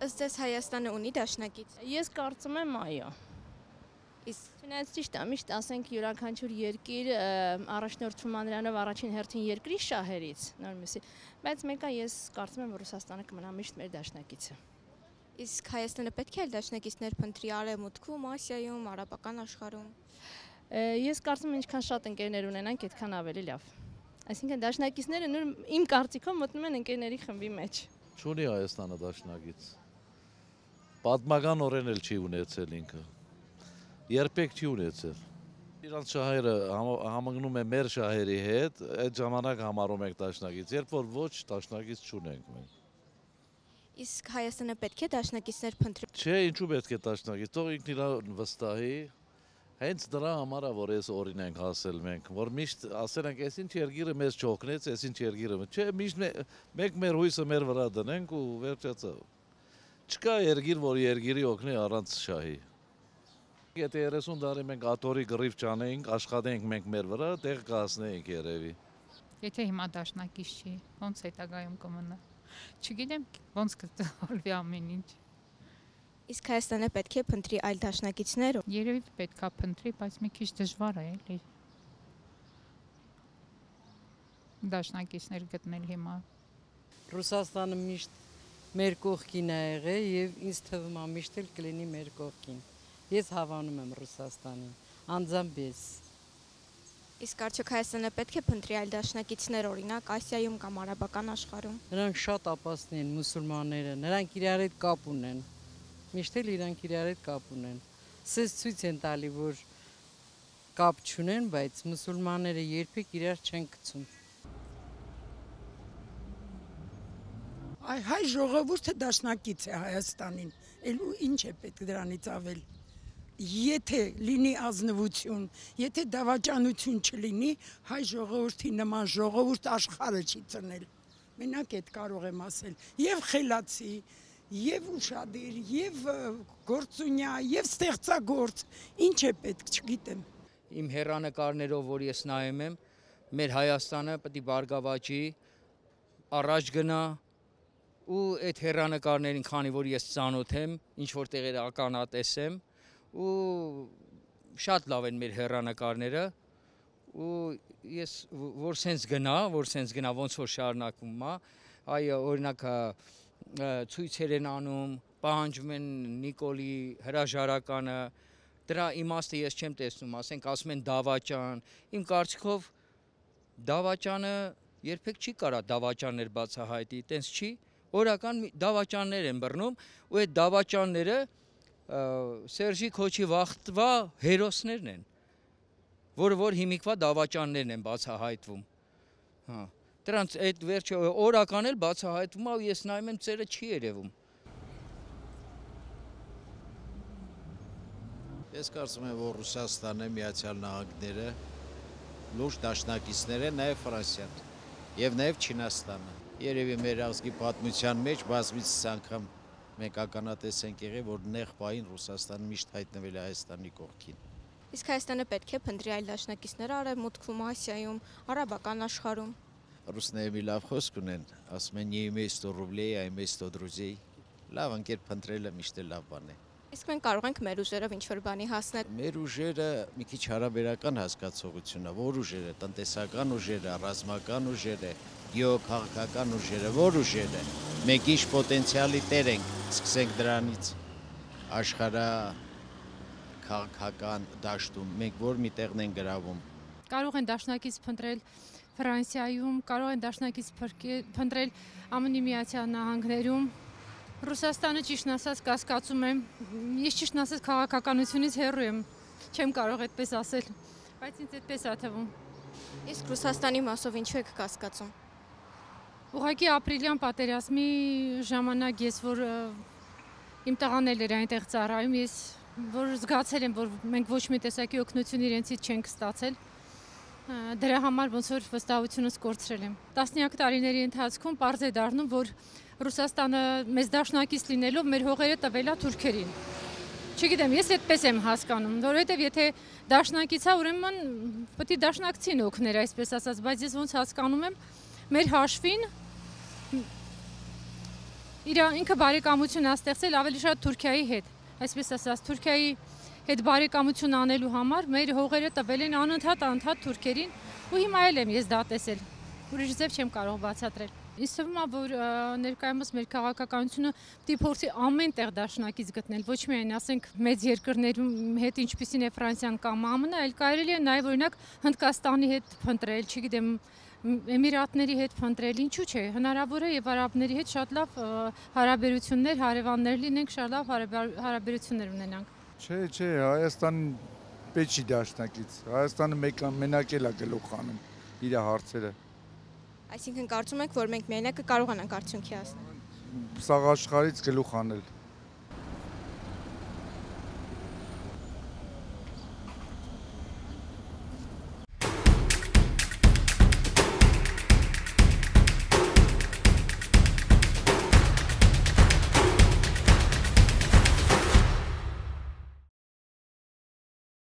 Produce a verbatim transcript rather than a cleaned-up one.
Ըստ ձեզ Հայաստանը ունի դաշնակից։ Ես կարծում եմ այո։ Իսկ Չնայած ճիշտ է, միշտ ասենք յուրաքանչյուր երկիր առաջնորդվում է նրանով առաջին հերթին երկրի շահերից, նորմիսի, բայց մեկը ես կարծում եմ, որ Ռուսաստանը կմնա միշտ մեր դաշնակիցը։ իսկ Հայաստանը պետք է դաշնակիցներ փնտրի Արևմուտքում, Ասիայում, արաբական աշխարհում։ Ես կարծում եմ, ինչքան շատ ընկերներ ունենանք, այդքան ավելի լավ։ Այսինքն դաշնակիցները նույն իմ կարծիքով մտնում են ընկերների խմբի մեջ։ Չունի Հայաստանը դաշնակից։ Պատմականորեն էլ չի ունեցել ինքը։ Երբեք չի ունեցել։ Իրանց շահերը համընկնում է մեր շահերի հետ, այդ ժամանակ համարում ենք դաշնակից, երբ որ ոչ դաշնակից չունենք մենք։ Իսկ Հայաստանը պետք է դաշնակիցներ փնտրի։ Չէ, ինչու պետք է դաշնակից, թող ինքն իրան վստահի։ Հենց դրա համար է, որ այս օրին ենք հասել մենք, որ միշտ ասել ենք, այս ինչ երկիրը մեզ չօգնեց, այս ինչ երկիրը, չէ, միշտ մենք մեր հույսը մեր վրա դնենք ու վերջացավ։ Չկա երկիր, որ երկիրի օգնի առանց շահի։ Եթե երեսուն տարի մենք աթոռի գրիվ չանեինք, աշխատենք մենք մեր վրա, տեղ կհասնեինք երևի։ Եթե հիմա դաշնակից չի, ոնց հետագայում կմնա։ Չգիտեմ, ոնց կտոլվի ամեն ինչ։ Իսկ Հայաստանը պետք է փնտրի այլ դաշնակիցներ։ Երևի պետքա փնտրի, բայց մի քիչ դժվար է էլի։ Դաշնակիցներ գտնել հիմա։ Ռուսաստանը միշտ մեր կողքին է եղել եւ ինձ թվում է միշտ էլ կլինի մեր կողքին։ Ես հավանում եմ Ռուսաստանին, անձամբ ես։ Իսկ արդյոք Հայաստանը պետք է փնտրի այլ դաշնակիցներ, օրինակ Ասիայում կամ արաբական աշխարհում։ Նրանք շատ ապաստն են մուսուլմանները, նրանք իրար հետ կապ ունեն։ Միշտ էլ իրանք իրար հետ կապ ունեն։ Սենց ցույց են տալի, որ կապ չունեն, բայց մուսուլմանները երբեք իրար չեն գցում։ Այ հայ ժողովուրդը դաշնակից է Հայաստանին, էլ ինչ է պետք դրանից ավել։ Եթե լինի ազնվություն, եթե դավաճանություն չլինի, հայ ժողովրդի նման ժողովուրդ աշխարհը չի ծնել։ Մենակ այդ կարող եմ ասել, եւ խելացի, եւ ուշադիր, եւ գործունյա, եւ ստեղծագործ, ինչ է պետք, չգիտեմ։ Իմ հեռանկարներով, որ ես նայում եմ, մեր Հայաստանը պետք է բարգավաճի, առաջ գնա, ու այդ հեռանկարներին, քանի որ ես ծանոթ եմ, ինչ որ տեղեր ականատես եմ, ու շատ լավ են մեր հեռանկարները, ու ես որ սենց գնա, որ սենց գնա, ոնց որ շարունակվում է, այ օրինակ ցույցեր են անում, պահանջում են Նիկոլի հրաժարականը, դրա իմաստը ես չեմ տեսնում, ասենք ասում են դավաճան, իմ կարծիքով դավաճանը երբեք չի կարա դավաճաններ բացահայտի, տենց չի, օրական դավաճաններ են բռնում, ու այդ դավաճանները Սերժի Քոչի վաղտվա հերոսներն են, որը որ հիմիկվա դավաճաններն են բացահայտվում, հա։ Դրանց այդ վերջը օրական էլ բացահայտվում է ու ես նայում եմ ծերը չի երևում։ Ես կարծում եմ, որ Ռուսաստանը, Միացյալ Նահանգները լուրջ դաշնակիցներ են, նաև Ֆրանսիան եւ նաև Չինաստանը։ Երևի մեր ազգի պատմության մեջ բազմիցս անգամ մենք ականատես ենք եղել, որ նեղ պահին Ռուսաստանը միշտ հայտնվել է Հայաստանի կողքին։ Իսկ Հայաստանը պետք է փնտրի այլ դաշնակիցներ Արևմուտքում, Ասիայում, արաբական աշխարհում։ Ռուսները մի լավ խոսք ունեն, ասում են «Не имей сто рублей, а имей сто друзей»։ Լավ ընկեր փնտրելը միշտ էլ լավ բան է։ Իսկ մենք կարող ենք մեր ուժերով ինչ-որ բանի հասնել։ Մեր ուժերը մի քիչ հարաբերական հասկացողություն է, որ ուժերը, տնտեսական ուժերը, ռազմական ուժերը, գեոքաղաքական ուժերը, որ ուժերը։ Մենք ինչ պոտենցիալի տեր ենք, սկսենք դրանից աշխարհա քաղաքական դաշտում, մենք որ մի տեղն են գրավում։ Կարող են դաշնակից փնտրել Ֆրանսիայում, կարող են դաշնակից փնտրել ԱՄՆ Միացյալ Նահանգներում, Ռուսաստանը ճիշտն ասած կասկածում եմ, ես ճիշտն ասած քաղաքականությունից հեռու եմ, չեմ կարող այդպես ասել, բայց ինձ այդպես է թվում։ Իսկ Ռուսաստանի մասով ինչու եք կասկածում։ Ուղղակի ապրիլյան պատերազմի ժամանակ ես որ իմ տղան էլ էր այնտեղ ծառայում, ես որ զգացել եմ, որ մենք ոչ մի տեսակի օգնություն իրենցից չենք ստացել, դրա համար ոնց որ վստահությունս կորցրել եմ։ Տասնյակ տարիների ընթացքում պարզ է դառնում, որ Ռուսաստանը մեզ դաշնակից լինելով մեր հողերը տվել է թուրքերին։ Չգիտեմ, ես այդպես եմ հասկանում, որովհետև եթե դաշնակից է, ուրեմն պետք է դաշնակցին օգներ, այսպես ասած, բայց ես ոնց հասկանում եմ, մեր հաշվին իր ինքը բարեկամություն է ստեղծել ավելի շատ Թուրքիայի հետ, այսպես ասած, Թուրքիայի հետ բարեկամություն անելու համար մեր հողերը տվել են անընդհատ անընդհատ թուրքերին ու հիմա էլ եմ ես դա տեսել։ Ուրիշ ձև չեմ կարող բացատրել։ Ինձ թվում է, որ ներկայումս մեր քաղաքականությունը պիտի փորձի ամեն տեղ դաշնակից գտնել, ոչ միայն ասենք մեծ երկրներում հետ, ինչպիսին է Ֆրանսիան կամ ԱՄՆ, այլ կարելի է նաև օրինակ Հնդկաստանի հետ փնտրել, չգիտեմ, Էմիրատների հետ փնտրել, ինչու՞ չէ, հնարավոր է եւ արաբների հետ շատ լավ հարաբերություններ, հարևաններ լինենք, շատ լավ հարաբերություններ ունենանք։ Չէ, չէ, Հայաստանը պետք չի դաշնակից։ Հայաստանը մեկ մենակ էլ է գլուխ անում իր հարցերը։ Այսինքն կարծում եք, որ մենք մենակ կկարողանանք արդյունքի հասնել։ Սաղ աշխարհից գլուխ անել։